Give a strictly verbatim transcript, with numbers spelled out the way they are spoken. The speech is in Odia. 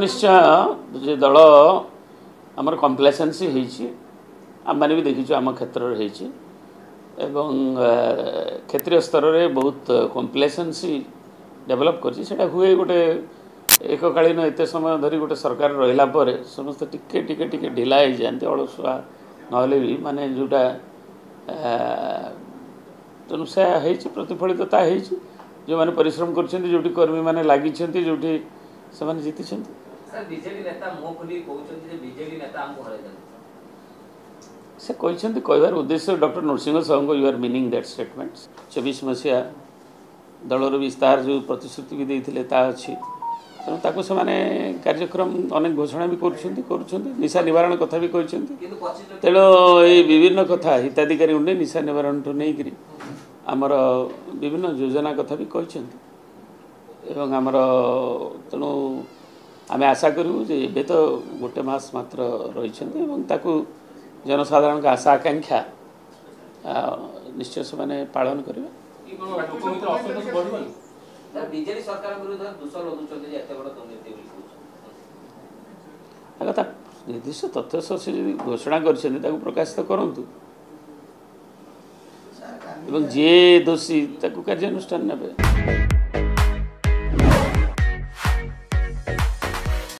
ନିଶ୍ଚୟ ଯେ ଦଳ ଆମର କମ୍ପ୍ଲେସେନ୍ସି ହେଇଛି, ଆମମାନେ ବି ଦେଖିଛୁ ଆମ କ୍ଷେତ୍ରରେ ହେଇଛି ଏବଂ କ୍ଷେତ୍ରୀୟ ସ୍ତରରେ ବହୁତ କମ୍ପ୍ଲେସେନ୍ସି ଡେଭଲପ୍ କରିଛି। ସେଇଟା ହୁଏ ଗୋଟେ ଏକକାଳୀନ ଏତେ ସମୟ ଧରି ଗୋଟେ ସରକାର ରହିଲା ପରେ ସମସ୍ତେ ଟିକେ ଟିକେ ଟିକେ ଢିଲା ହେଇଯାଆନ୍ତି, ଅଳସୁଆ ନହେଲେ ବି ମାନେ ଯେଉଁଟା, ତେଣୁ ସେ ହେଇଛି, ପ୍ରତିଫଳିତ ତା ହେଇଛି। ଯେଉଁମାନେ ପରିଶ୍ରମ କରିଛନ୍ତି, ଯେଉଁଠି କର୍ମୀମାନେ ଲାଗିଛନ୍ତି, ଯେଉଁଠି ସେମାନେ ଜିତିଛନ୍ତି। ସେ କହିଛନ୍ତି, କହିବାର ଉଦ୍ଦେଶ୍ୟ ଡକ୍ଟର ନୃସିଂହ ସାହୁଙ୍କ you are meaning that statement. ଚବିଶ ମସିହା ଦଳର ବିସ୍ତାର ଯେଉଁ ପ୍ରତିଶ୍ରୁତି ବି ଦେଇଥିଲେ ତା ଅଛି, ତେଣୁ ତାକୁ ସେମାନେ କାର୍ଯ୍ୟକ୍ରମ ଅନେକ ଘୋଷଣା ବି କରୁଛନ୍ତି କରୁଛନ୍ତି ନିଶା ନିବାରଣ କଥା ବି କହିଛନ୍ତି। ତେଣୁ ଏଇ ବିଭିନ୍ନ କଥା ହିତାଧିକାରୀଙ୍କୁ ନେଇ ନିଶା ନିବାରଣଠୁ ନେଇକରି ଆମର ବିଭିନ୍ନ ଯୋଜନା କଥା ବି କହିଛନ୍ତି ଏବଂ ଆମର ତେଣୁ ଆମେ ଆଶା କରିବୁ ଯେ ଏବେ ତ ଗୋଟେ ମାସ ମାତ୍ର ରହିଛନ୍ତି ଏବଂ ତାକୁ ଜନସାଧାରଣଙ୍କ ଆଶା ଆକାଂକ୍ଷା ନିଶ୍ଚୟ ସେମାନେ ପାଳନ କରିବେ। କଥା ନିର୍ଦ୍ଦିଷ୍ଟ ତଥ୍ୟ ସହ ସେ ଯଦି ଘୋଷଣା କରିଛନ୍ତି ତାକୁ ପ୍ରକାଶିତ କରନ୍ତୁ ଏବଂ ଯିଏ ଦୋଷୀ ତାକୁ କାର୍ଯ୍ୟାନୁଷ୍ଠାନ ନେବେ।